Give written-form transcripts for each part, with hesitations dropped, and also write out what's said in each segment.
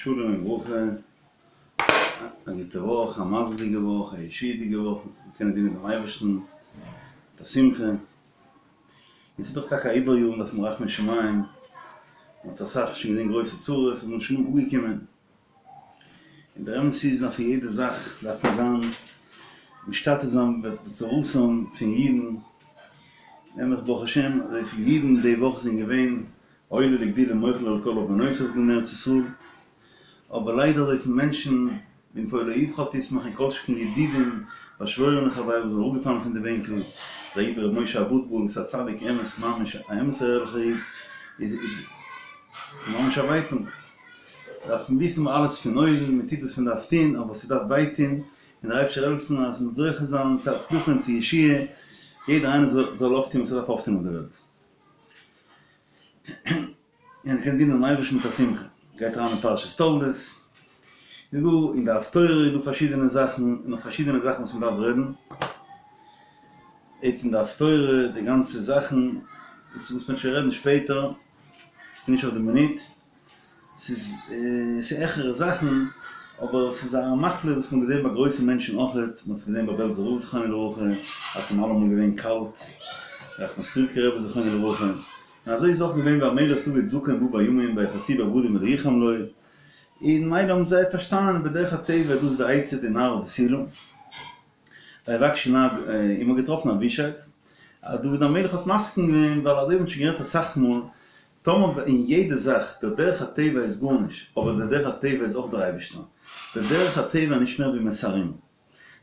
שלום וברכה, א גוטע וואך, א מזל'דיגע וואך, א ישועה'דיגע וואך, מיר קענען דינען דעם אייבערשטן מיט א שמחה, און ס'איז דאך טאקע א עיבור יאר, מ'דארף האבן רחמי שמים, מ'האט אסאך שוין געזען גרויסע צרות, און מ'איז שוין אפגעקומען, און דער אמת איז אז פון יעדע זאך דארף מען זיין משתתף זיין בצרתם פון אידן, נעבעך ברוך השם אזויפיל אידן די וואך זענען געווען עולה לגדולה מוחל על כל עוונותיו דא אין ארץ ישראל, אבער ליידער אזויפיל מענטשן בנפול אויבך אל תשמח און כל שכן ידידים באשוואוירענע חברים וואס זענען אראפגעפאלן פון די בענקל, אזא איד ווי ר' משה אבוטבול וואס איז א צדיק אמת ממש א אמת'ער ערליכער איד, איז ס'איז ממש א ווייטונג. דארף מען וויסן אלעס פון אויבן, מען טוט וואס מען דארף טון, אבער ס'דארף וויי טון, און דער אייבערשטער זאל העלפן אז מען זאל זוכה זיין צו הצלחה און צו ישועה, יעדער איינער זאל אויפטון וואס ער דארף אויפטון אויף די וועלט. און קען דינען דעם אייבערשטן מיט א שמחה. גייט אריין אין פרשת תולדות, איז דא אין די הפטורה איז דא פארשידענע זאכן, און נאך פארשידענע זאכן וואס מען דארף רעדן, און פון די הפטורה די גאנצע זאכן, דאס מוז מען שוין רעדן שפעטער, ס'איז נישט אויף די מינוט. ס'איז ס'איז העכערע זאכן, אבער ס'איז א מחלה וואס מ'האט געזען ביי גרויסע מענטשן אויכעט, מ'האט עס געזען ביי בעלזער רב זכרונו לברכה, אז ס'איז אים אלעמאל געווען קאלט, ראחמסטריווקער רבי זכרונו לברכה, און אזוי איז אויך געווען ביי המלך דוד זקן בא בימים ויכסוהו בבגדים ולא יחם לו, און מילא האבן זיי פארשטאנען בדרך הטבע דאס איז די עצה די נערה בתולה, ויבקשו נער און מ'האט געטראפן אבישג, אז דוד המלך האט מסכים געווען ווייל אזוי האט מען שוין גערעדט אסאך מאל, טאמער אין יעדע זאך, דער דרך הטבע איז גארנישט, אבער דער דרך הטבע איז אויך דער אייבערשטער. דער דרך הטבע איז נישט מער ווי מסרים.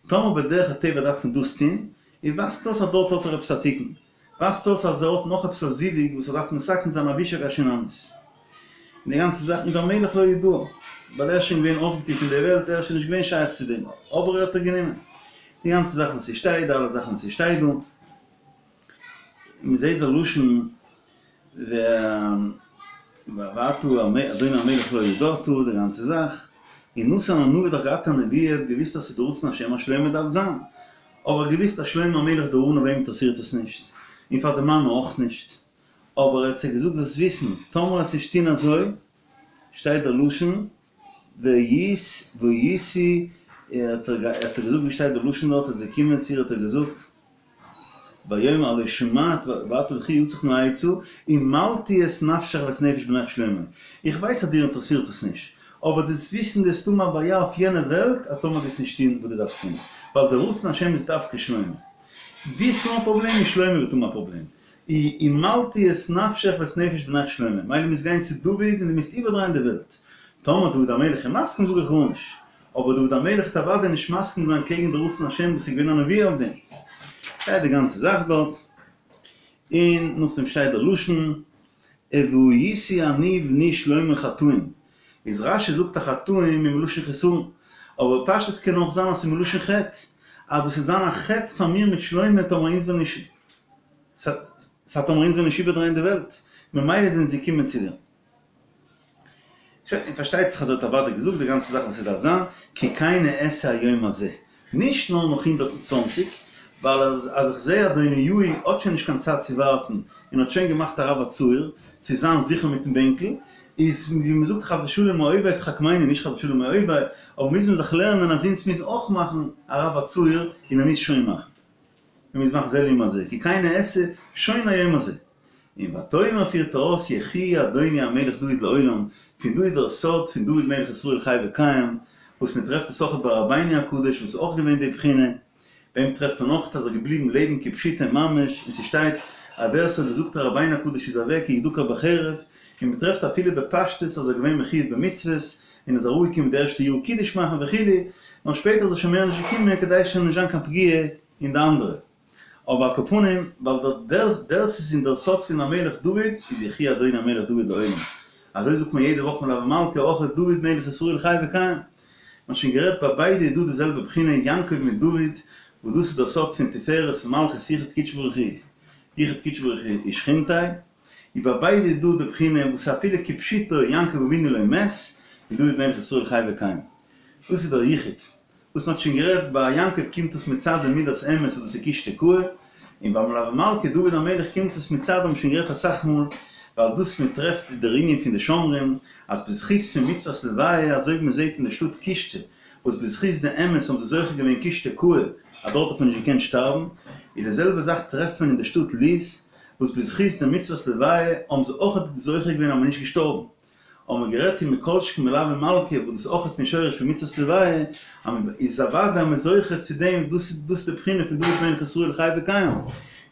טאמער בדרך הטבע דארף מען דאס טון, און ווייזט אויס אז דארט האט ער עפעס א תיקון. ווייזט אויס אז ער האט נאך עפעס א זיווג וואס ער דארף מתקן זיין אבישג השונמית. און די גאנצע זאך, און והמלך לא ידעה, ווייל ער איז שוין געווען אויסגעטון פון דער וועלט, ער איז שוין נישט געווען שייך צו דעם, אבער ער האט איר גענומען. די גאנצע זאך וואס ס'שטייט, די אלע זאכן וואס ס'שטייט דא. מען זעט די לשון ואתה אדוני המלך לא ידעת די גאנצע זאך, און נתן הנביא האט דאך געהאט א נבואה, ער האט געוויסט אז ס'איז די רצון השם אז שלמה דארף זיין, אבער געוויסט אז שלמה המלך דער עניו אים אינטערעסירט עס נישט, און פאר די מאמע אויך נישט, אבער ער האט זיי געזאגט זאלסט וויסן, טאמער וועסט נישט טון אזוי, שטייט דער לשון והיית והייתי, האט ער געזאגט ווי שטייט די לשון דארט אז ער איז געקומען צו איר האט ער געזאגט ויאמר הלא שמעת ועתה לכי יעצך נא עצה המלתי את נפשך ואת נפש בנך שלמה איך ווייס אז דיר אינטערעסירט עס נישט אבער דארפסט וויסן דו וועסט האבן א בעיה אויף יענע וועלט אז טאמער וועסט נישט טון וואס דו דארפסט טון ווייל די רצון השם איז דווקא שלמה דו וועסט האבן א פראבלעם און שלמה וועט האבן א פראבלעם המלתי את נפשך ואת נפש בנך שלמה, מילא מוזט גיין צו דוד און דו מוזט איבערדרייען די וועלט. טאמער דוד המלך איז מסכים זאג איך גארנישט, אבער דוד המלך וועט אוודאי נישט מסכים זיין קעגן די רצון השם וואס איז געווען א נבואה אויף דעם. שטייט די גאנצע זאך דארט, און נאכדעם שטייט דער לשון והייתי אני ובני שלמה חטאים, איז רש"י זאגט אז חטאים איז מלשון חסרון, אבער פשטות קען אויך זיין אז ס'איז מלשון חטא, אז דאס וועט זיין א חטא פאר מיר מיט שלמה טאמער אונז וועלן נישט סא טאמער אונז וועלן נישט איבערדרייען די וועלט, ממילא זענען זיי געקומען צו דיר. שוין, און פארשטייט זיך אז ער האט אוודאי געזאגט די גאנצע זאך וואס ס'דארף זיין, כי כן אעשה היום הזה. נישט נאר נאך 120, ווייל אז אז איך זעה אדוניהו האט שוין נישט קיין צייט צו ווארטן און האט שוין געמאכט א רב הצעיר צו זיין זיכער מיטן בענקל, איז ווי מ'זאגט חס ושלום מאויבי תחכמני, נישט חס ושלום מאויבי, אבער מוז מען זיך לערנען אז אונז מוז אויך מאכן א רב הצעיר און מ'מוז שוין מאכן. מען מוז מאכן זה לעומת זה, כי כן אעשה שוין היום הזה. און ותאמר פירט ער אויס יחי אדוני המלך דוד לעולם, פון דא איז דער סוד פון דוד מלך ישראל חי וקיים, וואס מען טרעפט עס אויך ביי רבינו הקדוש וואס איז אויך געווען די בחינה, ביי אים טרעפט מען אויך אז ער איז געבליבן לעבן כפשוטו ממש, און ס'שטייט אז ווער ס'האט געזאגט אז רבינו הקדוש איז אוועק איז ידקר בחרב, און מען טרעפט אפילו בפשטות אז ער איז געווען מחויב במצוות, און איז אראפגעקומען די ערשטע יאר קידוש מאכן וכו', נאר שפעטער איז ער שוין מער נישט געקומען כדי ס'זאל נישט זיין קיין פגיעה אין די אנדערע. אבער על כל פנים, ווייל דער ווער ס'איז אין דער סוד פון המלך דוד, איז יחי אדוני המלך דוד לעולם. אזוי זאגט מען יעדע וואך מלוה מלכה אויך דוד מלך ישראל חי וקיים. מ'האט שוין גערעדט ביי ביידע איז דא די זעלבע בחינה יעקב מיט דוד, וואס דאס איז דער סוד פון תפארת מלכות יחוד קודשא בריך הוא, יחוד קודשא בריך הוא ושכינתיה, און ביי ביידע איז דא די בחינה וואס אפילו כפשוטו יעקב אבינו לא מת, און דוד מלך ישראל חי וקיים. דאס איז דער יחוד. וואס מ'האט שוין גערעדט, ביי יעקב קומט עס מצד די מידת אמת וואס דאס איז קושטא קאי, און ביי מלוה מלכה דוד המלך קומט עס מצד, האבן שוין גערעדט אסאך מאל, ווייל דאס מען טרעפט דער ענין פון די שומרים אז בזכות פון מצוות לוויה אזוי ווי מען זעט אין די שטאט קושטא וואס בזכות די אמת האבן זיי זוכה געווען קושטא קאי אז דארט האט מען נישט געקענט שטארבן, איז די זעלבע זאך טרעפט מען אין די שטאט לוז וואס בזכות די מצוות לוויה האבן זיי אויך זוכה געווען אז מען איז נישט געשטארבן. האבן מיר גערעדט אין מכל שכן מלוה מלכה וואס דאס איז אויך פון שורש פון מצוות לוויה, אז מען איז אוודאי אז מען איז זוכה צו דעם, דאס איז דאס איז די בחינה פון דוד מלך ישראל חי וקיים,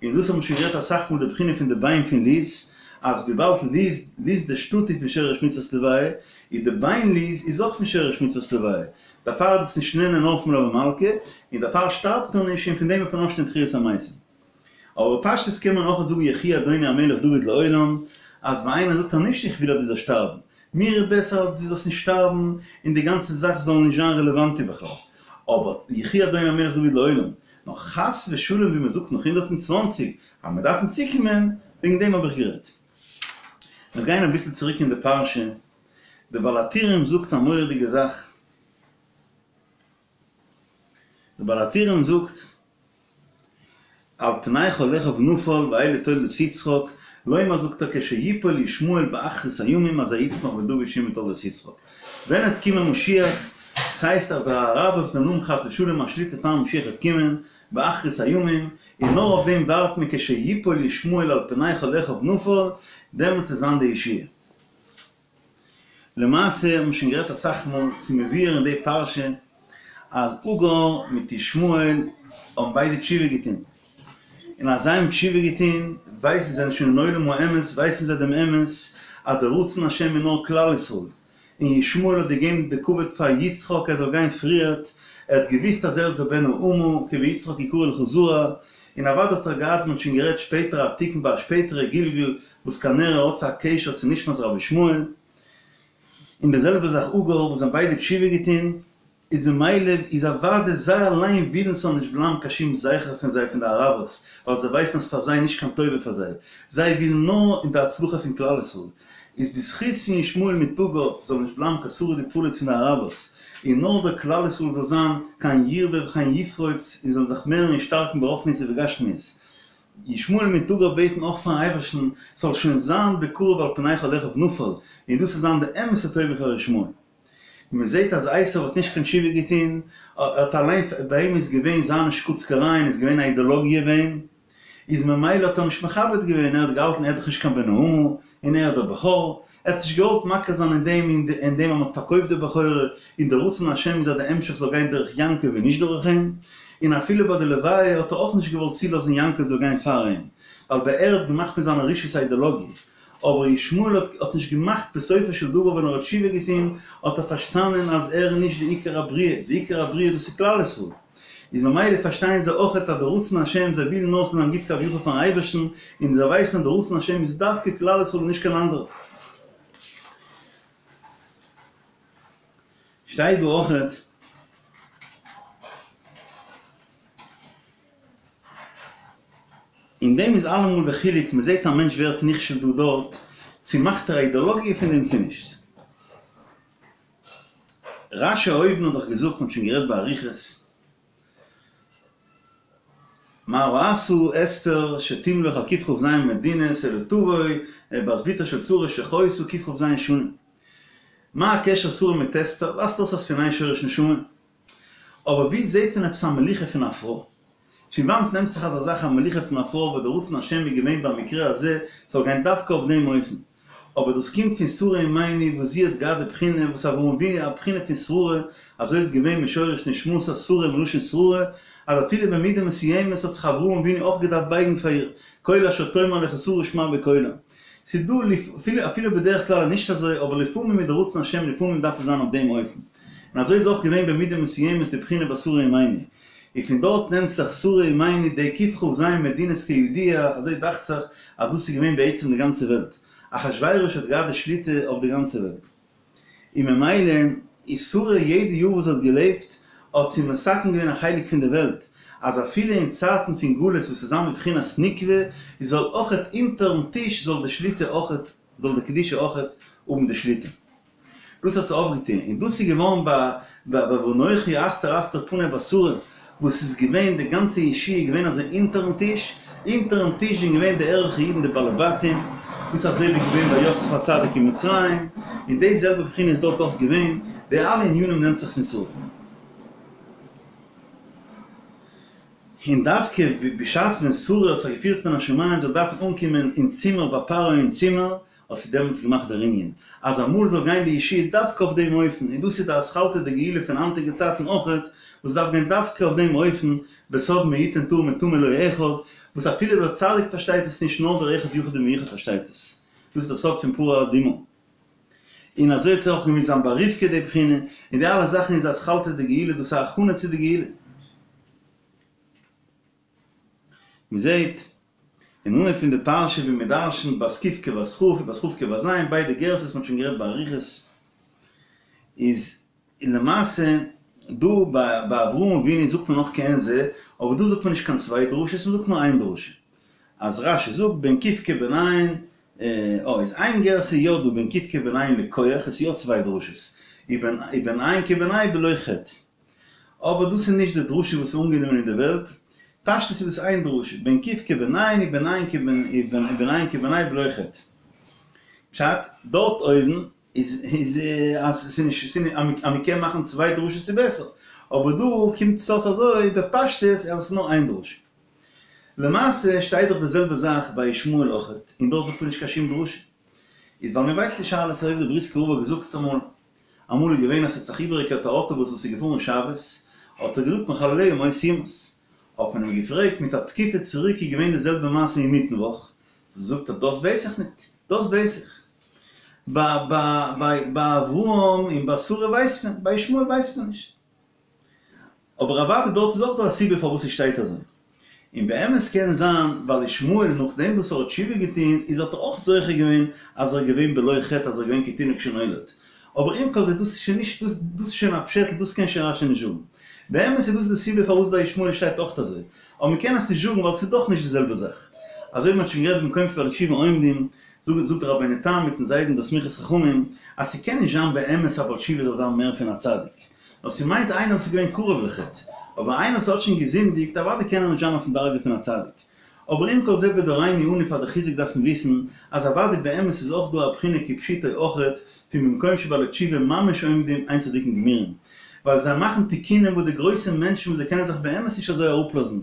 און דאס האבן מיר שוין גערעדט אסאך מאל די בחינה פון די ביין פון לוז, אז וויבאלד לוז לוז די שטאט איז פון שורש מצוות לוויה, איז די ביין לוז איז אויך פון שורש מצוות לוויה, דערפאר איז דאס נישט נהנה נאר פון מלוה מלכה, און דערפאר שטארבט ער נישט און פון דעם וועט מען אויפשטיין תחיית המתים. אבער בפשטות קען מען אויך זאגן יחי אדוני המלך דוד לעולם, אז ווען איינער זאגט אז נישט איך וויל אז דו זאלסט שטארבן, מיר איז בעסער אז דו זאלסט נישט שטארבן און די גאנצע זאך זאל נישט זיין רעלעוואנטי בכלל, אבער יחי אדוני המלך דוד לעולם, נאר חס ושלום ווי מען זאגט נאך 120 אז מען דארף צוקומען, וועגן דעם האב איך גערעדט. מיר גייען אביסל צוריק אין די פרשה, דער בעל הטורים זאגט א מורא'דיגע זאך, דער בעל הטורים זאגט, על פני כל אחיו נפל ואלה תולדות יצחק, לומר זאגט ער כשיפול ישמעאל באחרית הימים אזי יצמח בן דוד שהוא מתולדות יצחק. ווען עט קומען משיח, ס'הייסט אז די אראבערס וועלן האבן חס ושלום א שליטה פאר משיח עט קומען, באחרית הימים, און נאר אויף דעם ווארט מען כשיפול ישמעאל על פני כל אחיו נפל, דעמאלטס עט זיין די ישועה. למעשה האט מען שוין גערעדט אסאך מאל, ס'איז מבואר אין די פרשה אז הגר מיט ישמעאל האבן ביידע תשובה געטון, און אז זיי האבן תשובה געטון ווייסן זיי זענען שוין אין עולם האמת, ווייסן זיי דעם אמת אז דער רצון השם איז נאר כלל ישראל, און ישמעאל האט געגעבן די כבוד פאר יצחק ער זאל גיין פריערט, ער האט געוואוסט אז ער איז דער בן האמה, כי ביצחק יקרא לך זרע, און אוודאי האט ער געהאט, מען האט שוין גערעדט שפעטער א תיקון ביי א שפעטערע גלגול, וואס כנראה האט עס א קשר צו נשמת רבי ישמעאל, און די זעלבע זאך הגר וואס זיי האבן ביידע תשובה געטון, איז ממילא איז אוודאי זיי אליין ווילן ס'זאל נישט בלייבן קיין שום זכר פון זיי פון די אראבערס, ווייל זיי ווייסן אז פאר זיי נישט קיין טובה פאר זיי, זיי ווילן נאר אין די הצלחה פון כלל ישראל, איז בזכות פון ישמעאל מיט הגר זאל נישט בלייבן קיין שריד ופליט פון די אראבערס, און נאר דער כלל ישראל זאל זיין כן ירבה וכן יפרוץ און זאלן זיך מערן און שטארקן ברוחניות ובגשמיות. ישמעאל מיט הגר בעטן אויך פארן אייבערשטן ס'זאל שוין זיין בקרוב על פני כל אחיו נפל, און דאס זאל זיין די אמת'ע טובה פאר ישמעאל. און מען זעט אז עשו האט נישט קיין תשובה געטון, ער האט אליין, ביי אים איז געווען זיינע שקוצקערייען איז געווען א אידעלאגיע ביי אים, איז ממילא האט ער נישט מכבד געווען, ער האט געהאלטן ער איז דאך נישט קיין בן האמה, און ער איז דער בכור, ער האט נישט געוואלט מכיר זיין אין דעם אין דעם אז מען האט פארקויפט די בכורה, און דער רצון השם איז אז די המשך זאל גיין דורך יעקב און נישט דורך אים, און אפילו ביי די לוויה האט ער אויך נישט געוואלט צולאזן יעקב זאל גיין פאר אים, ווייל ביי ער האט געמאכט פון זיינע רשעות א אידעלאגיע. אבער ישמעאל האט האט נישט געמאכט בסופו של דבר ווען ער האט תשובה געטון האט ער פארשטאנען אז ער איז נישט די עיקר הבריאה, די עיקר הבריאה דאס איז כלל ישראל. איז ממילא פארשטייען זיי אויכעט אז די רצון השם זיי ווילן נאר ס'זאל זיין גוט כביכול פארן אייבערשטן, און זיי ווייסן אז די רצון השם איז דווקא כלל ישראל און נישט קיין אנדערע. שטייט דא אויכעט. אין דעם איז אלעמאל די חילוק, מען זעט א מענטש ווערט נכשל דא דארט, צו מאכט ער א אידאלאגיע פון דעם צו נישט. רש"י אויבן האט דאך געזאגט, מען האט שוין גערעדט באריכות, מה ראתה אסתר שתמלוך על קכ"ז מדינות אלא תבוא בת בתה של שרה שחיתה קכ"ז שנים. מה הקשר שרה מיט אסתר? ווייזט אויס אז פון איין שורש נשמה. אבער ווי זעהט מען עפעס א מלוכה פון א פרוי? פון וואנט נעמט זיך אזא זאך א מלוכה פון א פרוי וואס די רצון השם איז געווען במקרה הזה ס'זאל גיין דווקא אויף דעם אופן? אבער דאס קומט פון שרה אמנו וואס זי האט געהאט די בחינה וואס אברהם אבינו א בחינה פון שררה, אזוי איז געווען משורש נשמתה שרה מלשון שררה, אז אפילו במידה מסוימת האט זיך אברהם אבינו אויך געדארפט בייגן פאר איר, כל אשר תאמר לך שרה שמע בקולה. ס'איז דא אפילו אפילו בדרך כלל איז נישט אזוי אבער לפעמים איז די רצון השם לפעמים דארף עס זיין אויף דעם אופן. און אזוי איז אויך געווען במידה מסוימת די בחינה ביי שרה אמנו. און פון דארט נעמט זיך שרה אמנו די קכ"ז מדינות כידוע, אזוי דאכט זיך אז דאס איז געווען בעצם די גאנצע וועלט. אחשורוש האט געהאט די שליטה אויף די גאנצע וועלט. און ממילא איז שרה יעדע יאר וואס זי האט געלעבט האט זי מתקן געווען א חלק פון די וועלט, אז אפילו אין צייטן פון גלות וואס איז זיין בבחינת נוקבא, זאל אויכעט אונטערן טיש זאל די שליטה אויכעט, זאל די קדושה אויכעט האבן די שליטה. דאס האט זי אויפגעטון, און דאס איז געווארן ביי ביי ואנכי הסתר אסתיר פני בשרה, וואס איז געווען די גאנצע ישועה איז געווען אזוי אונטערן טיש, אונטערן טיש זענען געווען די ערליכע אידן די בעלי בתים, דאס איז אזוי ווי געווען ביי יוסף הצדיק אין מצרים, און די זעלבע בחינה איז דארט אויך געווען, די אלע ענינים נעמט זיך פון שרה. און דווקא בשעת ווען שרה האט זיך געפירט מן השמים זאל דארפן אנקומען אין צימער ביי פרעה אין צימער, האט זי דעמאלטס געמאכט דער ענין אז אמאל זאל גיין די ישועה דווקא אויף דעם אופן, און דאס איז די אתחלתא דגאולה פון היינטיגע צייטן אויכעט, וואס דארף גיין דווקא אויף דעם אופן, בסוד מי יתן טהור מטמא לא אחד, וואס אפילו דער צדיק פארשטייט עס נישט נאר דער אחד יחיד ומיוחד פארשטייט עס. דאס איז דער סוד פון פרה אדומה. און אזוי האט אויך געמוזט זיין ביי רבקה די בחינה, און די אלע זאכן איז אתחלתא דגאולה, דאס איז א הכנה צו די גאולה. מען זעט אין אנהויב פון די פרשה ווי מען דרש'נט בת ק' כבת כ' און בת כ' כבת ז', ביידע גרסאות מען האט שוין גערעדט באריכות, איז למעשה דא ביי אברהם אבינו זאגט מען נאך כעין זה, אבער דא זאגט מען נישט קיין צוויי דרשות מען זאגט נאר איין דרשה, אז רש"י זאגט בין ק' כבן ע', אה איז איין גרסה יא דא בין ק' כבן ע' לכח, עס איז יא צוויי דרשות, ובן ע' כבן ה' בלא חטא. אבער דאס איז נישט די דרשה וואס איז אנגענומען אין די וועלט, פשטות איז דאס איין דרשה, בין ק' כבן ע' ובן ע' כבן ובן ע' כבן ה' בלא חטא. פשט, דארט אויבן איז איז אז ס'איז נישט ס'איז אז מ'קען מאכן צוויי דרשות איז בעסער, אבער דא קומט עס אויס אזוי בפשטות אז עס איז נאר איין דרשה. למעשה שטייט דאך די זעלבע זאך ביי ישמעאל אויכעט, און דארט זאגט מען נישט קיין שום דרשה. איז ווייל מ'ווייסט נישט אלעס אזוי ווי די בריסקער רב האט געזאגט אמאל, אמאל איז געווען אז ס'האט זיך איבערגעקערט א אוטובוס וואס איז געפארן שבת, האט ער געזאגט מחלליה מות יומת. האט מען אים געפרעגט מיט א תקופה צוריק איז געווען די זעלבע מעשה אינמיטן וואך, זאגט ער דאס ווייס איך ניט, דאס ווייס איך. ביי ביי ביי אברהם און ביי שרה ווייסט מען, ביי ישמעאל ווייסט מען נישט. אבער אוודאי דארט איז אויך דא א סיבה פארוואס עס שטייט אזוי. און באמת קען זיין ווייל ישמעאל נאכדעם וואס ער האט תשובה געטון איז האט ער אויך זוכה געווען אז ער איז געווען בלא חטא אז ער איז געווען כתינוק שנולד. אבער עם כל זה דאס איז שוין נישט דאס דאס איז שוין א פשעטל דאס קען שוין רש"י נישט זאגן. באמת איז דאס די סיבה פארוואס ביי ישמעאל שטייט אויך אזוי. אבער מען קען עס נישט זאגן ווייל ס'איז דאך נישט די זעלבע זאך. אזוי ווי מען האט שוין גערעדט במקום שבעלי תשובה עומדים זאגט זאגט דער רבינו תם מיטן זיידן דער סמיכת חכמים אז ס'קען נישט זיין באמת א בעל תשובה זאל זיין מער פון א צדיק. נאר ס'מיינט איינער וואס איז געווען קרוב לחטא, אבער איינער וואס האט שוין געזינדיגט אוודאי קען ער נישט זיין אויפן דרגה פון א צדיק. אבער עם כל זה בדורינו אנו פאר די חיזוק דארף מען וויסן אז אוודאי באמת איז אויך דא א בחינה כפשוטו אויכעט פון במקום שבעלי תשובה ממש עומדים אין צדיקים גמורים ווייל זיי מאכן תיקונים וואס די גרויסע מענטשן וואס זיי קענען זיך באמת נישט אזוי אראפלאזן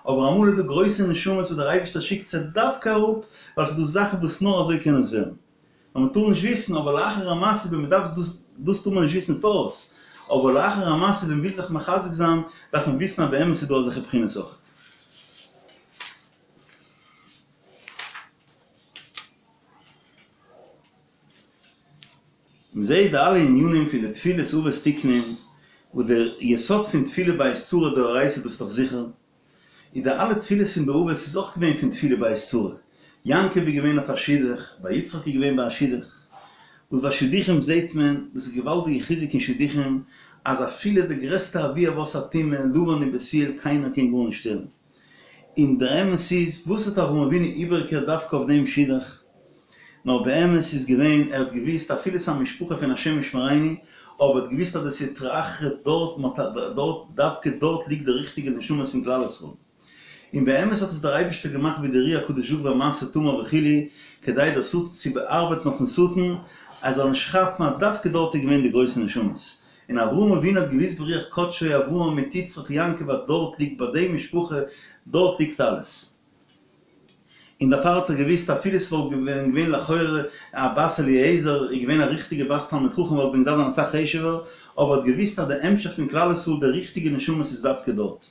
אבער אמאל איז דא גרויסע נשמות וואס דער אייבערשטער שיקט זיי דווקא אראפ ווייל ס'איז דא זאכן וואס נאר אזוי קען עס ווערן. נאר מען טאר נישט וויסן, אבער לאחר המעשה ווען מען דארף דאס, דאס טאר מען נישט וויסן פאראויס, אבער לאחר המעשה ווען מען וויל זיך מחזק זיין, דארף מען וויסן אז באמת איז דא אזעלכע בחינות אויכעט. מען זעט די אלע ענינים פון די תפילות אבות תיקנום, וואס דער יסוד פון תפילה בעת צרה דאורייתא דאס איז דאך זיכער, איז די אלע תפילות פון די אבות איז אויך געווען פון תפילה בעת צרה, יעקב איז געווען אויף א שידוך, ביי יצחק איז געווען ביי א שידוך, וואס ביי שידוכים זעהט מען, דאס איז געוואלדיגע חיזוק אין שידוכים, אז אפילו די גרעסטע אבי אבות הטומאה, לבן און בתואל, קיינער קען גארנישט שטערן. און דער אמת איז, וואס האט אברהם אבינו איבערגעקערט דווקא אויף דעם שידוך? נאר באמת איז געווען, ער האט געוואוסט אפילו ס'איז א משפחה פון השם ישמרינו, אבער ער האט געוואוסט אז די סטרא אחרא דארט, דארט, דווקא דארט ליגט די ריכטיגע נשמות פון כלל ישראל. און באמת האט עס דער אייבערשטער געמאכט ווי דער אר"י הקדוש זאגט ביי מעשה תמר וכו', כדי דער שטן צו באארבעטן אויפן שטן, ער זאל נישט כאפן אז דווקא דארט איז געווען די גרויסע נשמות. און אברהם אבינו האט געוואוסט ברוח קדשו אברהם מיט יצחק יעקב אז דארט ליגט ביי די משפחה, דארט ליגט אלעס. און דערפאר האט ער געוואוסט אפילו ס'וואלט ווען געווען לכאורה א בת אליעזר איז געווען א ריכטיגע בת תלמיד חכם וואלט ווען געדארפט זיין אסאך חשוב'ער, אבער האט געוואוסט אז די המשך פון כלל ישראל די ריכטיגע נשמות איז דווקא דארט.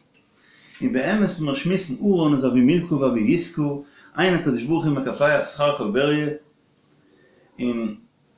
און באמת ווי מיר שמועסן הרן איז אבי מילכא ואבי יסכא, אין הקדוש ברוך הוא מקפח שכר כל בריה, און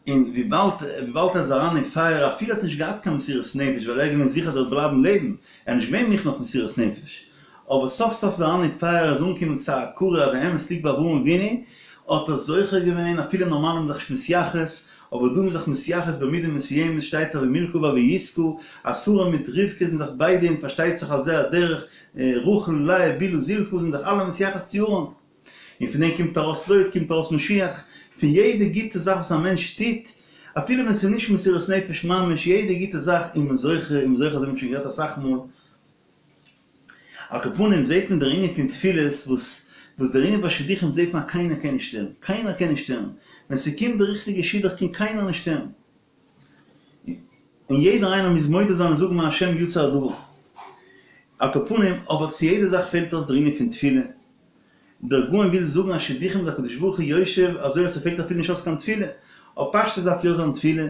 און וויבאלד וויבאלד ער איז אריין אין פייער אפילו ער האט נישט געהאט קיין מסירות נפש ווייל ער איז געווען זיכער אז ער וועט בלייבן לעבן, ער איז נישט געווען מוכן אויף מסירות נפש, אבער סוף סוף איז ער אריין אין פייער ער איז אנגעקומען צו א הכרה אז די אמת ליגט ביי אברהם אבינו, האט ער זוכה געווען, אפילו נארמאל איז מען זיך נישט מתייחס, אבער דא איז מען זיך מתייחס במידה מסוימת שטייט אבי מילכא ואבי יסכא, אז שרה מיט רבקה זענען זיך ביידע און פארשטייט זיך על זה הדרך, רחל, לאה, בלהה, זלפה זענען זיך אלע מתייחס צו הרן. און פון דעם קומט ארויס לוט, קומט ארויס משיח, פון יעדע גוטע זאך וואס א מענטש טוט, אפילו ווען ס'איז נישט מסירות נפש ממש, יעדע גוטע זאך איז מען זוכה, איז מען זוכה, אזוי האט מען שוין גערעדט אסאך מאל. על כל פנים זעט מען דער ענין פון תפילות וואס. וואס דער ענין ביי שידוכים זעט מען אז קיינער קען נישט שטערן, קיינער קען נישט שטערן, ווען ס'קומט די ריכטיגע שידוך קען קיינער נישט שטערן, און יעדער איינער מוז מודה זיין און זאגן מהשם יצא הדבר. על כל פנים, אבער צו יעדע זאך פעלט אויס דער ענין פון תפילה, דער גאון וויל זאגן אז שידוכים איז הקדוש ברוך הוא יושב אזוי אז ס'פעלט אפילו נישט אויס קיין תפילה, אבער פשטות דארף יא זיין תפילה,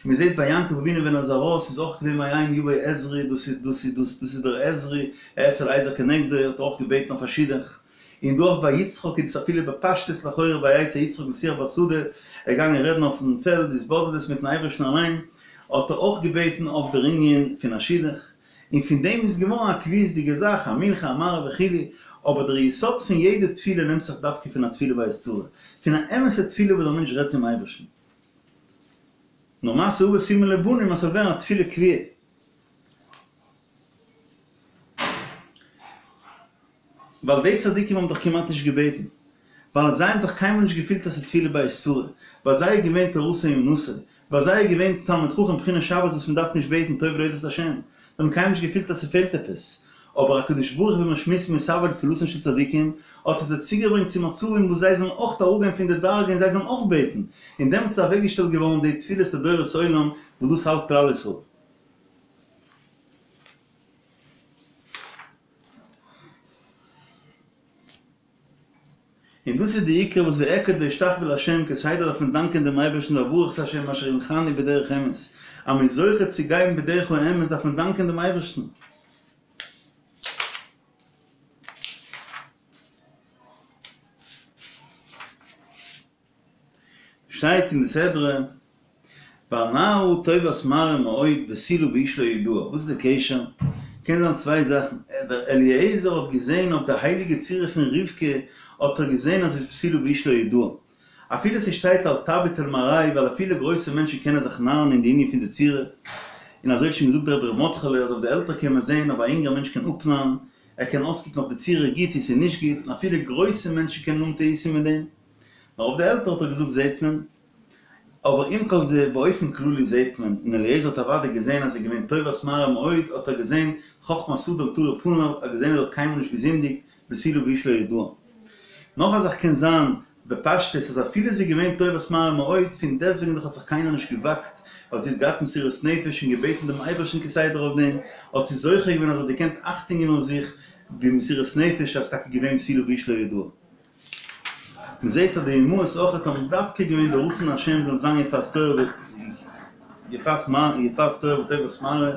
מען זעט ביי יעקב אבינו ווען ער איז ארויס איז אויך געווען מאין יבוא עזרי דאס איז דאס איז דאס דאס איז דער עזרי אעשה לעזר כנגדו האט ער אויך געבעטן אויף א שידוך, און דא אויך ביי יצחק איז עס אפילו בפשטות לכאורה ויצא יצחק לשוח בשדה, ער איז געגאנגען רעדן אויפן פעלד התבודדות מיטן אייבערשטן אליין, האט ער אויך געבעטן אויף דער ענין פון א שידוך. און פון דעם איז געווארן א קביעות'דיגע זאך, א מנחה, א מעריב וכו', אבער דער יסוד פון יעדע תפילה נעמט זיך דווקא פון א תפילה בעת צרה, פון א אמת'ע תפילה וואס דער מענטש רעדט צום אייבערשטן. נאר מעשה אבות סימן לבנים אז ס'זאל ווערן א תפילה קבועה. ווייל די צדיקים האבן דאך כמעט נישט געבעטן, ווייל זיי האבן דאך קיינמאל נישט געפילט אז ס'איז תפילה בעת צרה, ביי זיי איז געווען תורתו אומנותו, ביי זיי איז געווען תלמיד חכם בחינת שבת וואס מ'דארף נישט בעטן טוב להודות להשם, זיי האבן קיינמאל נישט געפילט אז ס'פעלט עפעס, אבער הקדוש ברוך הוא ווי מיר שמועסן מתאוה לתפילתן של צדיקים, האט ער זיי צוגעברענגט צו מצבים וואס זיי זאלן אויך אראפגיין פון די דרגה און זיי זאלן אויך בעטן, און דעמאלטס איז אוועקגעשטעלט געווארן די תפילות לדורות עולם וואס דאס האלט כלל ישראל. און דאס איז די עיקר וואס וארקוד ואשתחוה לה' כסדר דארף מען דאנקען דעם אייבערשטן ואברך את ה' אשר הנחני בדרך אמת, אז מען איז זוכה צו גיין בדרך האמת דארף מען דאנקען דעם אייבערשטן. שטייט אין די סדרה, והנערה טובת מראה מאוד בתולה ואיש לא ידעה, וואס איז די קשר? קען זיין צוויי זאכן, דער אליעזר האט געזען אויף די הייליגע צורה פון רבקה האט ער געזען אז זי איז בתולה ואיש לא ידעה, אפילו ס'שטייט אל תביט אל מראה ווייל אפילו גרויסע מענטשן קענען זיך נארן אין די ענין פון די צורה, און אזוי האט שוין געזאגט דער רבי ר' מרדכי'לע אז אויף די עלטער קען מען זען אבער א אינגער מענטש קען אפנארן, ער קען אויסקוקן אויף די צורה גוט און ס'איז נישט גוט, און אפילו גרויסע מענטשן קענען האבן טעותים מיט דעם. נאר אויף די עלטער האט ער געזאגט זעהט מען, אבער עם כל זה באופן כללי זעהט מען, און אליעזר האט אוודאי געזעהן אז זי איז געווען טובת מראה מאוד, האט ער געזעהן חכמת אדם תאיר פניו, ער האט געזעהן אז זי האט קיינמאל נישט געזינדיגט, בתולה ואיש לא ידעה. נאך א זאך קען זיין בפשטות אז אפילו זי איז געווען טובת מראה מאוד, פון דעסטוועגן דאך האט זיך קיינער נישט געוואגט, ווייל זי האט געהאט מסירות נפש און געבעטן דעם אייבערשטן כסדר אויף דעם, האט זי זוכה געווען אז זי האט געקענט אכטונג געבן אויף זיך במסירות נפש אז ס'איז טאקע געווען בתולה ואיש לא ידעה. מען זעט אז די אמהות אויכעט האבן דווקא געווען די רצון השם זאל זיין יפת תואר ו יפת מראה יפת תואר וטובת מראה,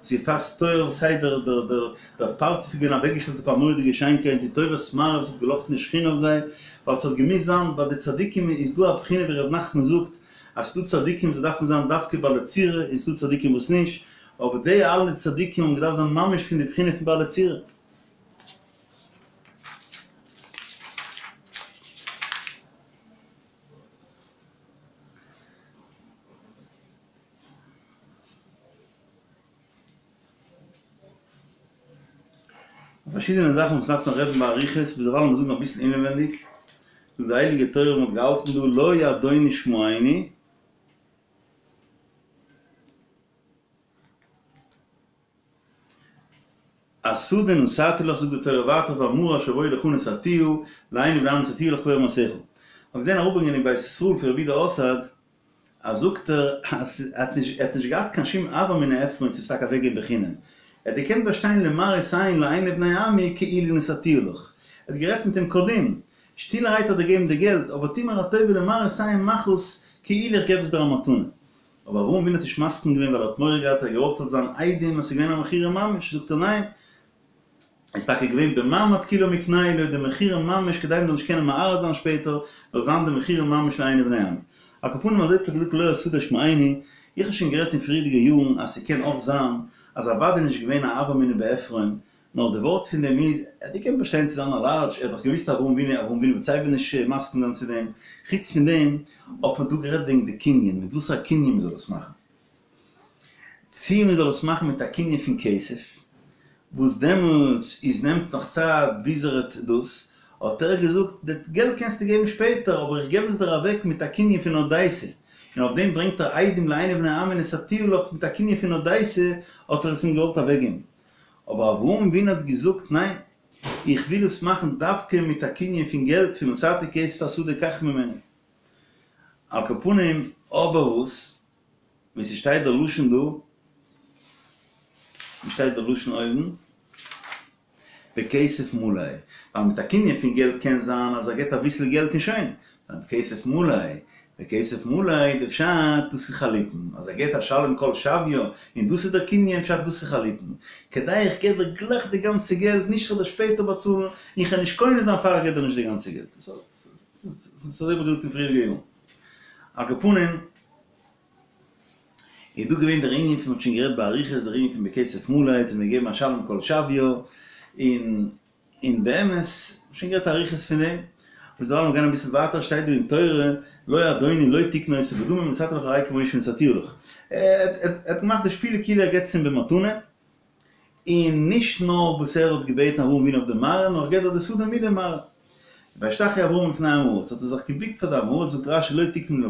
צו יפת תואר סיי דער דער דער דער פרצוף איז געווען אוועקגעשטעלט אויף א מורא'דיגע שיינקייט די טובת מראה וואס האט געלאכטן די שכינה אויף זיי, ווייל ס'האט געמוזט זיין ביי די צדיקים איז דא א בחינה ווי ר' נחמן זאגט אז ס'דא צדיקים וואס דארפן זיין דווקא בעלי צורה און ס'דא צדיקים וואס נישט, אבער די אלע צדיקים האבן געדארפט זיין ממש פון די בחינה פון בעלי צורה. פארשידענע זאכן וואס דארף מען רעדן באריכות, ביזדערווייל לאמיר זאגן אביסל אינעווענדיג, זאגט די הייליגע תורה מען האט געהאלטן דא לא אדוני שמעני, השדה נתתי לך זאגט די תורה ווייטער והמרה אשר בו לך נתתיה לעיני בני עמי נתתיה לך ביום מעשיך. כ'האב געזען אראפברענגען אין בית ישראל פון רבי יודא אסאד אז זאגט ער אז ער האט נישט ער האט נישט געהאט קיין שום הוה אמינא עפרון צו עס טאקע אוועקגעבן בחינם ער האט געקענט באשטיין למראית עין לעיני בני עמי כאילו נתתיה לך ער האט גערעדט מיט אים קודם שטילערהייט האט ער געגעבן די געלט אבער טו מיר א טובה למראית עין מאך עס כאילו איך געב עס דיר א מתנה אבער אברהם אבינו האט נישט מסכים געווען ווייל ער האט מורא געהאט ער האט געוואלט ס'זאל זיין עדים אז ס'איז געווען א מכירה ממש, זאגט ער ניין, איז טאקע געווען במעמד כולה מקנהו לו די מכירה ממש כדי מ'זאל נישט קענען מערער זיין שפעטער, זאל זיין די מכירה ממש לעיני בני עמי. על כל פנים אזוי האט ער געזאגט לא השדה שמעני, איך האב שוין גערעדט אין פריערדיגע יארן אז ס'קען אויך זיין אז אוודאי נישט געווען א הוה אמינא בעפרון, נאר די ווארט פון דעם איז, ער האט געקענט באשטיין צו זיין א לארדזש, ער האט דאך געוואוסט אברהם אבינו, אברהם אבינו וועט סייווי נישט מסכים זיין צו דעם, חוץ פון דעם האט מען דא גערעדט וועגן די קנין, מיט וואסערע קנין מען זאל עס מאכן. צי מען זאל עס מאכן מיט א קנין פון כסף, וואס דעמאלטס איז נעמט נאך צייט ביז ער האט דאס, האט ער געזאגט, די געלט קענסטו געבן שפעטער, אבער איך געב עס דיר אוועק מיט א קנין פון הודייתא, און אויף דעם ברענגט ער עדים לעיני בני עמי נתתיה לך, מיט א קנין פון הודייתא האט ער עס אים געוואלט אוועקגעבן. אבער אברהם אבינו האט געזאגט ניין, איך וויל עס מאכן דווקא מיט א קנין פון געלט פון נתתי כסף השדה קח ממני. על כל פנים, אבער וואס? ווי ס'שטייט דער לשון דא, ווי שטייט דער לשון אויבן? בכסף מלא, ווייל מיט א קנין פון געלט קען זיין אז ער געט אביסל געלט און שוין, בכסף מלא, בכסף מלא איז די פשט דאס איז חליפין, אז ער געט אשלם כל שוויה און דאס איז דער קנין פשט דאס איז חליפין, כדי איך געב דיר גלייך די גאנצע געלט נישט כ'וועל דיר שפעטער באצאלן, און כ'וועל נישט קונה זיין פאר איך געב דיר נישט די גאנצע געלט. ס'איז אזוי ווי געזאגט אין פריערדיגע יארן. על כל פנים. איז דא געווען דער ענין פון מ'האט שוין גערעדט באריכות דער ענין פון בכסף מלא האט מען געגעבן אשלם כל שוויה און און באמת שוין גערעדט אריכות פון דעם אבער דערווייל מיר גייען אביסל ווייטער שטייט דא אין תורה לא אדוני לא תקנה אותו בדמים נתתי לך הרי כמו שנתתיה לך ער האט געמאכט די שפיל כאילו ער געבט עס אים במתנה און נישט נאר וואס ער האט געבעטן אברהם אבינו אויף די מרעה, נאר געט דאך די שדה מיט די מרעה. וישתחו אברהם לפני עם הארץ, האט ער זיך געבוקט פאר די עם הארץ, זאגט רש"י לא תקנה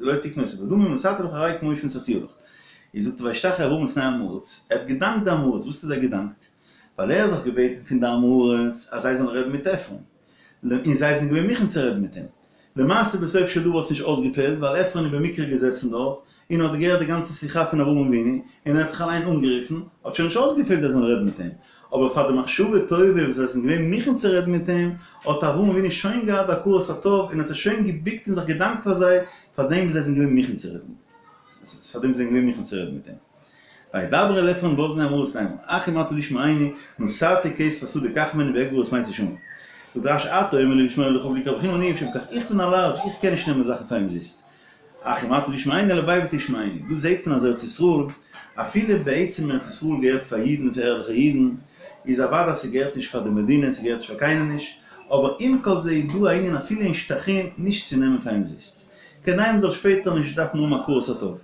לא תקנה אותו בדמים, נתתי לך הרי כמו שנתתיה לך. איז זאגט ער וישתחו אברהם לפני עם הארץ, ער האט געדאנקט די עם הארץ, וואס האט ער זיי געדאנקט? ווייל ער האט דאך געבעטן פון די עם הארץ אז זיי זאלן רעדן מיט עפרון, און זיי זענען געווען מוכן צו רעדן מיט אים. למעשה בסוף של דבר האט עס נישט אויסגעפעלט ווייל עפרון איז במקרה געזעסן דארט און האט געהערט די גאנצע שיחה פון אברהם אבינו און ער האט זיך אליין אנגערופן, האט שוין נישט אויסגעפעלט זיי זאלן רעדן מיט אים, אבער פאר די מחשבה טובה וואס זיי זענען געווען מוכן צו רעדן מיט אים, האט אברהם אבינו שוין געהאט די הכרת הטוב און האט זיך שוין געבוקט און זיך געדאנקט פאר זיי פאר דעם וואס זיי זענען געווען מוכן צו רעדן פאר דעם וואס זיי זענען געווען מוכן צו רעדן מיט אים. וידבר אל עפרון באזני עם הארץ לאמר, אך אם אתה לשמעני, נתתי כסף השדה קח ממני ואקבור את מתי שמה. זאגט רש"י אתה אומר לי לשמור לך בלי קרבכם אני אשם כך, איך בין א לארדזש, איך קען נישט נעמען זאכן פאר אומזיסט. אך אם אתה לשמעני הלוואי ותשמעני. דא זעט מען אז ארץ ישראל, אפילו בעצם ארץ ישראל געהערט פאר אידן, פאר ערליכע אידן, איז אוודאי אז ס'געהערט נישט פאר די מדינה, ס'געהערט נישט פאר קיינעם נישט, אבער עם כל זה איז דא א ענין אפילו אין שטחים נישט צו נעמען פאר אומזיסט. כדי מ'זאל שפעטער נישט דארפן האבן הכרת הטוב.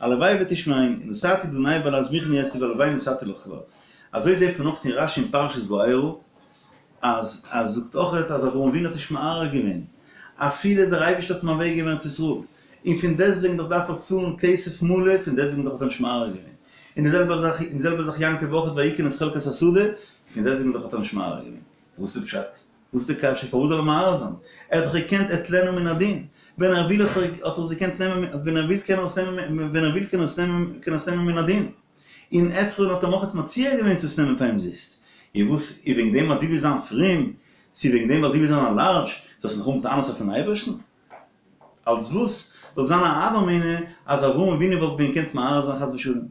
הלוואי ותשמעני, נתתי דני בלע"ז מוכן אסתי והלוואי נתתי לך כבר. אזוי זעט מען אויך אין רש"י אין פרשת וארא, אז אז זאגט אויכעט אז אברהם אבינו האט נישט מערער געווען, אפילו דער אייבערשטער האט אים אוועק געגעבן ארץ ישראל, און פון דעסטוועגן דאך דארף ער צאלן כסף מלא, פון דעסטוועגן דאך האט ער נישט מערער געווען. און די זעלבע זאך און די זעלבע זאך יעקב אויכעט ויקן את חלקת השדה, פון דעסטוועגן דאך האט ער נישט מערער געווען. וואס איז די פשט? וואס איז די קשיא? פארוואס זאל ער מערער זיין? ער האט דאך געקענט אטלנה מן הדין. ווען ער וויל האט ער האט ער עס געקענט נעמען, ווען ער וויל קען ער עס נעמען, ווען ער וויל קען ער עס נעמען, קען ער עס נעמען מן הדין. און עפרון האט אים אויכעט מציע געווען צו עס נעמען פאר אומזיסט. און וואס איז וועגן דעם אז דו ווילסט זיין פרום, צו וועגן דעם ווייל דו ווילסט זיין א לארדזש, זאלסטו נאך האבן טענות אויפן אייבערשטן? אלס וואס זאל זיין א הוה אמינא אז אברהם אבינו וואלט ווען געקענט מערער זיין חס ושלום?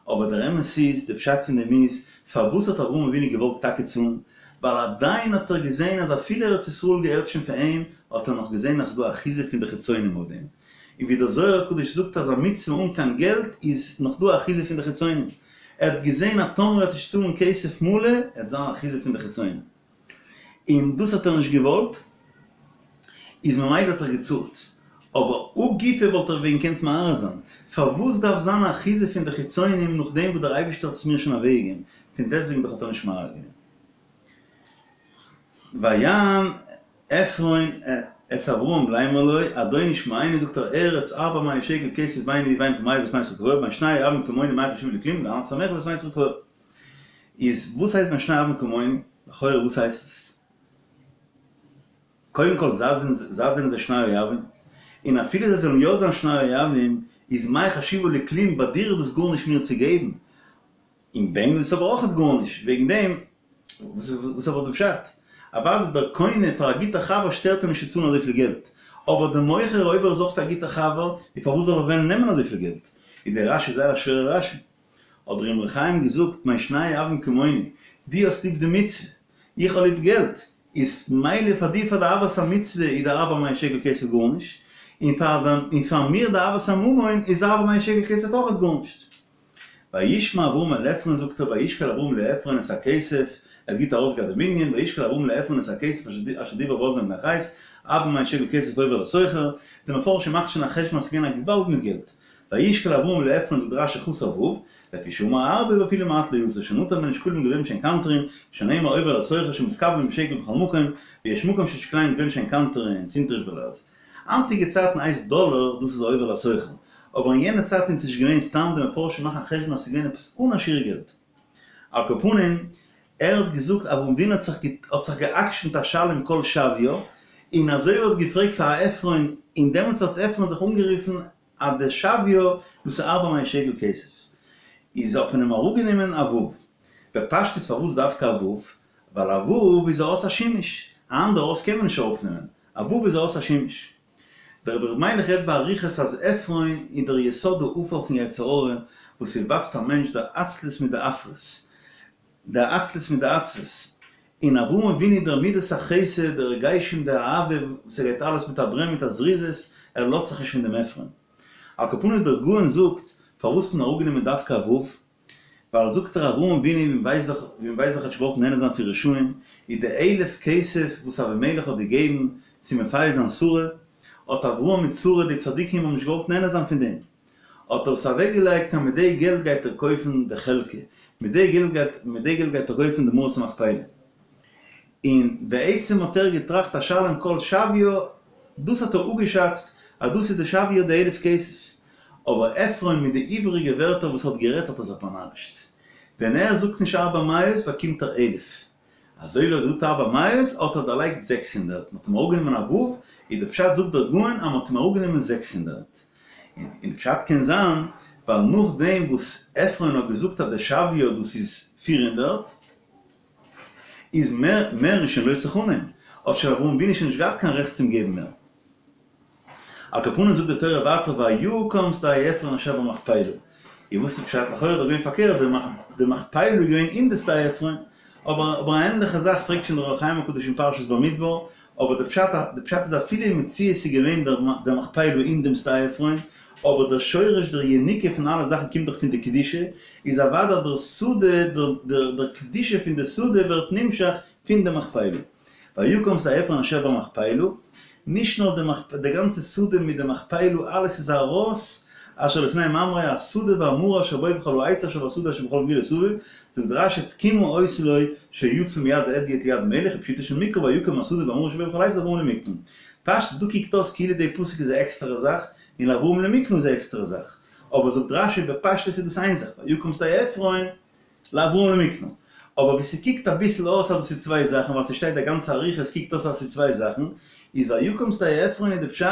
אבער דער אמת איז, די פשט פון דעם איז, פארוואס האט אברהם אבינו געוואלט טאקע צאלן? ווייל עדיין האט ער געזען אז אפילו ארץ ישראל געהערט שוין פאר אים, האט ער נאך געזען אז ס'איז דא אחיזה פון די חיצונים אויף דעם. און ווי דער זוהר הקדוש זאגט אז א מצוה אן קיין געלט איז נאך דא אחיזה פון די חיצונים. ער האט געזען אז טאמער ער וועט נישט צאלן כסף מלא, עט זיין אחיזה פון די חיצונים. און דאס האט ער נישט געוואלט, איז ממילא האט ער געצאלט, אבער הא גופא וואלט ער ווען געקענט מערער זיין, פארוואס דארף זיין אחיזה פון די חיצונים נאכדעם וואס דער אייבערשטער האט עס מיר שוין אוועקגעגעבן, פון דעסטוועגן דאך האט ער נישט מערער געווען. ויען עפרון את אברהם לאמר לו, אדוני שמעני זאגט ער ארץ ארבע מאות שקל כסף ביני ובינך ומביא את מתך קבור, בין שני אויבים כמוני מה חשיבה לי כלום לענות את עמך ואת מתך קבור. איז וואס הייסט בין שני אויבים כמוני? לכאורה וואס הייסט עס? קודם כל זייט זענען זיי שני אוהבים, און אפילו זיי זאלן יא זיין שני אוהבים, איז מאי חשיבה לי כלום, ביי דיר איז דאס גארנישט מיר צו געבן, און ביי אים איז עס אבער אויכעט גארנישט, וועגן דעם, וואס איז אבער די פשט? אוודאי דער קונה פאר א גוטער חבר שטערט אים נישט צו צאלן אזויפיל געלט, אבער דער מוכר אויב ער איז אויכעט א גוטער חבר, איז פארוואס זאל ער וועלן נעמען אזויפיל געלט? איז דער רש"י זייער א שווערע רש"י. האט דער אמרי חיים געזאגט, בין שני אוהבים כמוני, דו האסט ליב די מצוה, איך האב ליב געלט, איז מילא פאר דיר פאר די אהבת המצוה איז די ארבע מאות שקל כסף גארנישט, און פאר און פאר מיר די אהבת הממון איז ארבע מאות שקל כסף אויכעט גארנישט. וישמע אברהם אל עפרון זאגט ער וישקל אברהם לעפרון את הכסף, ער האט גוט ארויסגעהאט דעם ענין, וישקל אברהם לעפרון את הכסף אשר דיבר באזני בני חת, ארבע מאות שקל כסף עובר לסוחר, די מפרשים מאכט שוין א חשבון אז ס'איז געווען א געוואלד מיט געלט, וישקל אברהם לעפרון זאגט רש"י חסר ו', לפי שאמר הרבה ואפילו מעט לא יצא, שנטל ממנו שקלים גדולים שהן קנטרין, שנאמר עובר לסוחר שמתקבלין בשקל בכל מקום, ויש מקום ששקליהן גדולים שהן קנטרין, סינטריש בלע"ז. היינטיגע צייטן הייסט דאלער דאס איז א עובר לסוחר, אבער אין יענע צייטן איז נישט געווען סתם די מפרשים מאכן א חשבון אז ס'איז געווען עפעס אן א שיעור געלט. על כל פנים. ער האט געזאגט אברהם אבינו האט זיך האט זיך גע'עקשנ'ט אשלם כל שוויה, און אזוי ווי ער האט געפרעגט פאר עפרון, און דעמאלטס האט עפרון זיך אנגערופן אז די שוויה דאס איז ארבע מאות שקל כסף, איז האט מען אים אראפגענומען א ו'. בפשטות פארוואס דווקא א ו'? ווייל א ו' איז א אות השימוש, א אנדערע אות קען מען נישט אראפנעמען, א ו' איז א אות השימוש. דער רבי ר' מיילעך רעדט באריכות אז עפרון איז דער יסוד העפר פון יצר הרע וואס ס'ווארפט א מענטש די עצלות מיט די עפרות, די עצלות מיט די עצבות, און אברהם אבינו איז דער מידת החסד, די רגשים, די אהבה, וואס ער גייט אלעס מיט א ברען מיט א זריזות, ער לאזט זיך נישט פון דעם עפרון. על כל פנים דער גאון זאגט פארוואס האט מען אראפגענומען דווקא א ו', ווייל זאגט ער אברהם אבינו ווי מ'ווייסט דאך ווי מ'ווייסט דאך האט נישט געוואלט נהנה זיין פון רשעים, איז די אלף כסף וואס אבימלך האט געגעבן צו מפייס זיין שרה, האט אברהם מיט שרה די צדיקים האבן נישט געוואלט נהנה זיין פון דעם, האט ער עס אוועק געלייגט אז מיט די געלט גייט ער קויפן די חלקה, מיט די געלט גייט מיט די געלט גייט ער קויפן די מערת המכפלה. און בעצם האט ער געטראכט אשלם כל שוויה, דאס האט ער אפגעשאצט אז דאס איז די שוויה די אלף כסף, אבער עפרון מיט די איבעריגע ווערטער וואס האט גערעדט האט ער זיך באנארישט. ווען ער זאגט נישט ארבע מאות באקומט ער אלף. אזוי ווי ער האט געזאגט ארבע מאות האט ער דערלייגט 600, מ'האט אים אראפגענומען א ו', איז די פשט זאגט דער גאון אז מ'האט אים אראפגענומען 600. און די פשט קען זיין ווייל נאכדעם וואס עפרון האט געזאגט אז די שוויה דאס איז 400, איז מער מער איז שוין לא תחנם, האט שוין אברהם אבינו שוין נישט געהאט קיין רעכט צום געבן מער. על כל פנים זאגט די תורה ווייטער ויקם שדה עפרון אשר במכפלה, איז וואס איז פשט? לכאורה איז דאך געווען פארקערט די מכפלה איז געווען אין די שדה עפרון, אבער אבער א ענליכע זאך פרעגט שוין דער אור החיים הקדוש אין פרשת במדבר, אבער די פשט די פשט איז אפילו אין מציאות איז געווען דער דער מכפלה אין דעם שדה עפרון, אבער דער שורש דער יניקה פון אלע זאכן קומט דאך פון די קדושה, איז אוודאי דער שדה דער דער דער קדושה פון די שדה ווערט נמשך פון די מכפלה. ויקם שדה עפרון אשר במכפלה, נישט נאר די מכפ די גאנצע שדה מיט די מכפלה אלעס איז ארויס אשר לפני ממרא השדה והמערה אשר בו וכל העץ אשר בשדה אשר בכל גבולו סביב, זאגט רש"י תקומה היתה לו שיצא מיד הדיוט ליד מלך ופשוטו של מקרא ויקם השדה והמערה אשר בו וכל העץ לאברהם למקנה. פשט דא קוקט אויס כאילו די פסוק איז א עקסטערע זאך און לאברהם למקנה איז א עקסטערע זאך, אבער זאגט רש"י בפשטות איז דאס איין זאך ויקם שדה עפרון לאברהם למקנה. אבער ווי ס'קוקט אביסל אויס אז דאס איז צוויי זאכן ווייל ס'שטייט די גאנצע אריכות קוקט אויס אז ס'איז צוויי זאכן, איז ויקם שדה עפרון איז די פשט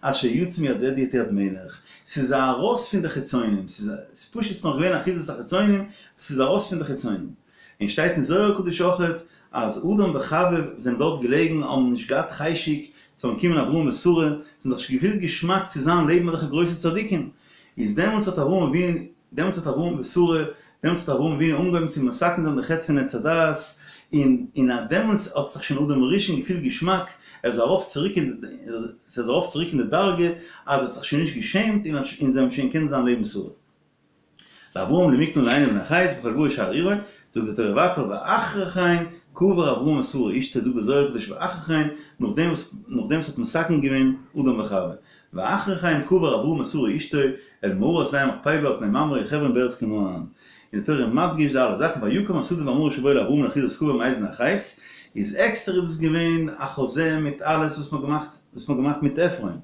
אז שיצא מיד הדיוט ליד מלך, ס'איז ארויס פון די חיצונים, ס'איז פשוט ס'נאך געווען אחיזת החיצונים, ס'איז ארויס פון די חיצונים. און שטייט אין זוהר הקדוש אויכעט אז אדם וחוה זענען דארט געלעגן האבן נישט געהאט חשק ס'זאלן קומען אברהם ושרה, זיי האבן זיך נישט געפילט געשמאק צו זיין לעבן אזעלכע גרויסע צדיקים, איז דעמאלטס האט אברהם אבינו דעמאלטס האט אברהם ושרה, דעמאלטס האט אברהם אבינו אנגעהויבן צו מתקן זיין די חטא פון עץ הדעת, און און אט דעמאלטס האט זיך שוין אדם הראשון געפילט געשמאק, ער איז ארויף צוריק אין די, ס'איז ארויף צוריק אין די דרגה, אז ער האט זיך שוין נישט געשעמט, און און זיי האבן שוין געקענט זיין לעבן שרה. לאברהם למקנה לעיני בני חת בכל באי שער עירו, זאגט די תורה ווייטער ואחרי כן קבר אברהם את שרה אשתו, זאגט די זוהר הקדוש ואחרי כן, נאכדעם וואס נאכדעם וואס האט מתקן געווען אדם וחוה, ואחרי כן קבר אברהם את שרה אשתו אל מערת שדה המכפלה על פני ממרא חברון בארץ כנען. איז די תורה מדגיש די אלע זאכן ויקם השדה והמערה אשר בו לאברהם לאחוזת קבר מאת בני חת, איז עקסטער איז דאס געווען א חוזה מיט אלעס וואס מ'האט געמאכט וואס מ'האט געמאכט מיט עפרון,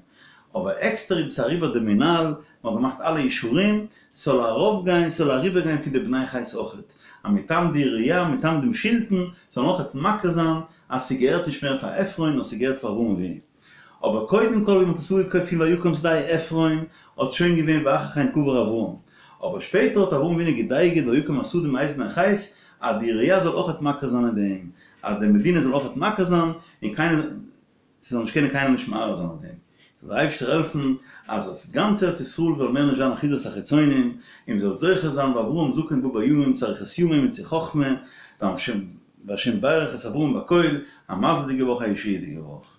אבער עקסטער איז דאס אריבער די מנהל, מ'האט געמאכט אלע אישורים, ס'זאל ארויפגיין ס'זאל אריבערגיין פון די בני חת אויכעט, אז מטעם די עירייה מטעם דעם שלטון זאלן אויכעט מכיר זיין אז ס'געהערט נישט מער פאר עפרון נאר ס'געהערט פאר אברהם אבינו. אבער קודם כל ווי מ'האט עס אפגעקויפט פון ויקם שדה עפרון האט שוין געווען ואחר כן קבר אברהם, אבער שפעטער האט אברהם אבינו געדייגעט ויקם השדה מאת בני חת אז די עירייה זאל אויכעט מכיר זיין אין דעם, אז די מדינה זאל אויכעט מכיר זיין און קיינער ס'זאל נישט קענען קיינער נישט מערער זיין אויף דעם. זאל דער אייבערשטער העלפן אז אויף גאנץ ארץ ישראל זאל מער נישט זיין אחיזת החיצונים, און מ'זאל זוכה זיין ואברהם זקן בא בימים צו אריכות ימים און צו חכמה, והשם ברך את אברהם בכל, א מזל'דיגע וואך א ישועה'דיגע וואך.